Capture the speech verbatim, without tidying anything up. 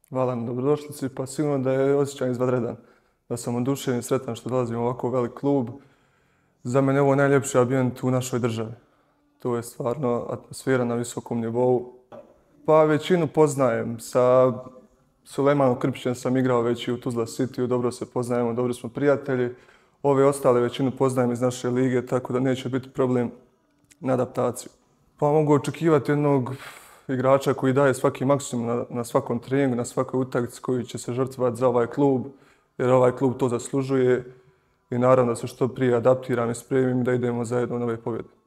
Hvala na dobrodošlici, pa sigurno da je osjećaj izvanredan. Da sam oduševljen i sretan što dolazim u ovako velik klub. Za mene je ovo najljepši ambijent u našoj državi. To je stvarno atmosfera na visokom nivou. Pa većinu poznajem. Sa Sulejmanom Krpićem sam igrao već i u Tuzla Cityu, dobro se poznajemo, dobri smo prijatelji. Ove ostale većinu poznajem iz naše lige, tako da neće biti problem na adaptaciju. Pa mogu očekivati jednog igrača koji daje svaki maksimum na, na svakom treningu, na svakoj utakmici koji će se žrtvovati za ovaj klub, jer ovaj klub to zaslužuje i naravno da se što prije adaptiram i spremim da idemo zajedno u nove pobjede.